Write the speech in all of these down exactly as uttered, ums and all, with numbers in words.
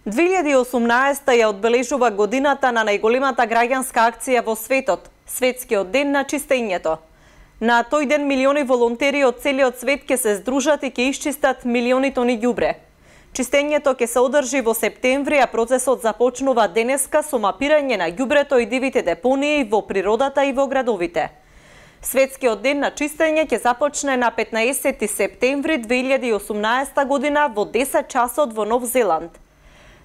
две илјади и осумнаесета ја одбележува годината на најголемата граѓанска акција во светот, Светскиот ден на чистењето. На тој ден милиони волонтери од целиот свет ќе се здружат и ќе исчистат милиони тони ѓубре. Чистењето ќе се одржи во септември, а процесот започнува денеска со мапирање на ѓубрето и дивите депонии во природата и во градовите. Светскиот ден на чистење ќе започне на петнаесети септември две илјади и осумнаесета година во десет часот во Нов Зеланд.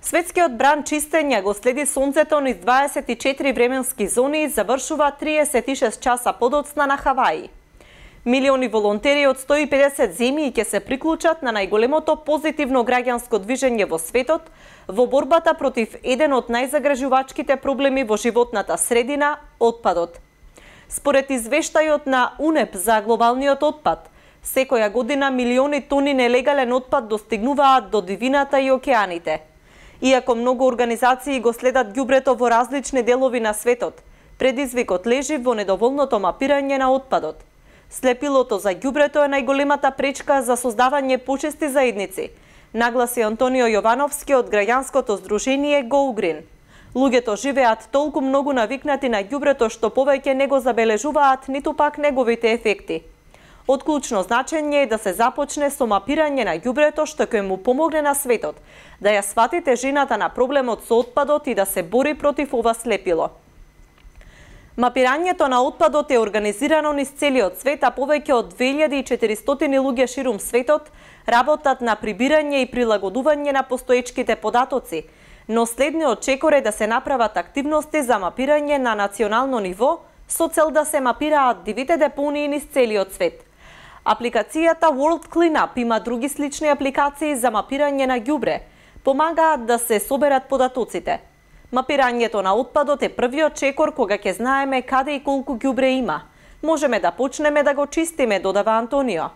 Светскиот бран чистење го следи сонцето низ дваесет и четири временски зони и завршува триесет и шест часа подоцна на Хаваи. Милиони волонтери од сто и педесет земји ќе се приклучат на најголемото позитивно граѓанско движење во светот во борбата против еден од најзагрижувачките проблеми во животната средина – отпадот. Според извештајот на УНЕП за глобалниот отпад, секоја година милиони тони нелегален отпад достигнуваат до дивината и океаните. Иако многу организации го следат ѓубрето во различни делови на светот, предизвикот лежи во недоволното мапирање на отпадот. Слепилото за ѓубрето е најголемата пречка за создавање почисти заедници, нагласи Антонио Јовановски од граѓанското здружение Go Green. Луѓето живеат толку многу навикнати на ѓубрето што повеќе не го забележуваат ниту пак неговите ефекти. Од клучно значење е да се започне со мапирање на ѓубрето што ќе му помогне на светот, да ја свати тежината на проблемот со отпадот и да се бори против ова слепило. Мапирањето на отпадот е организирано низ целиот свет, а повеќе од две илјади и четиристотини луѓе ширум светот работат на прибирање и прилагодување на постоечките податоци, но следниот чекор е да се направат активности за мапирање на национално ниво со цел да се мапираат дивите депонии низ целиот свет. Апликацијата World Cleanup има други слични апликации за мапирање на ѓубре, помагаат да се соберат податоците. Мапирањето на отпадот е првиот чекор кога ќе знаеме каде и колку ѓубре има. Можеме да почнеме да го чистиме, додава Антонио.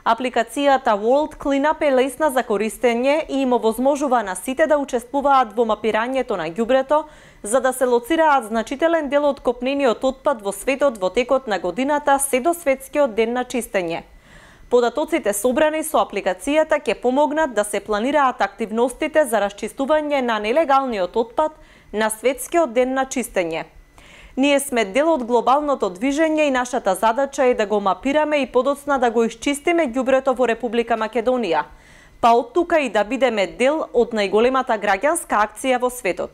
Апликацијата World Cleanup е лесна за користење и им овозможува на сите да учествуваат во мапирањето на ѓубрето, за да се лоцираат значителен дел од копнениот отпад во светот во текот на годината се до Светскиот ден на чистење. Податоците собрани со апликацијата ќе помогнат да се планираат активностите за расчистување на нелегалниот отпад на Светскиот ден на чистење. Ние сме дел од глобалното движење и нашата задача е да го мапираме и подоцна да го исчистиме ѓубрето во Република Македонија, па од тука и да бидеме дел од најголемата граѓанска акција во светот.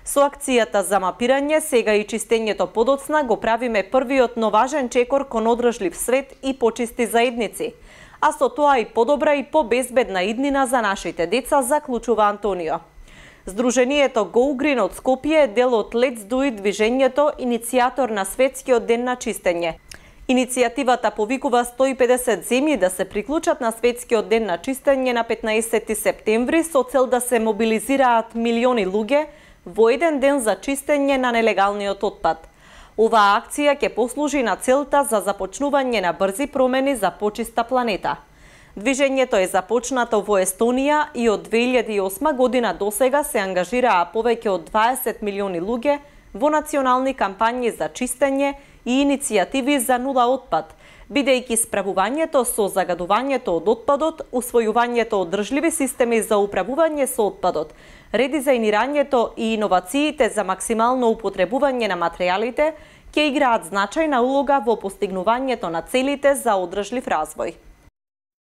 Со акцијата за мапирање, сега и чистењето подоцна го правиме првиот но важен чекор кон одржлив свет и почисти заедници, а со тоа и подобра и побезбедна иднина за нашите деца, заклучува Антонио. Здружението Go Green од Скопје е дел од Let's Do It движењето, иницијатор на Светскиот ден на чистење. Иницијативата повикува сто и педесет земји да се приклучат на Светскиот ден на чистење на петнаесети септември со цел да се мобилизираат милиони луѓе во еден ден за чистење на нелегалниот отпад. Оваа акција ќе послужи на целта за започнување на брзи промени за почиста планета. Движењето е започнато во Естонија и од две илјади и осма година досега се ангажираа повеќе од дваесет милиони луѓе во национални кампањи за чистење и иницијативи за нула отпад, бидејќи справувањето со загадувањето од отпадот, усвојувањето одржливи системи за управување со отпадот, редизајнирањето и иновациите за максимално употребување на материјалите ќе играат значајна улога во постигнувањето на целите за одржлив развој.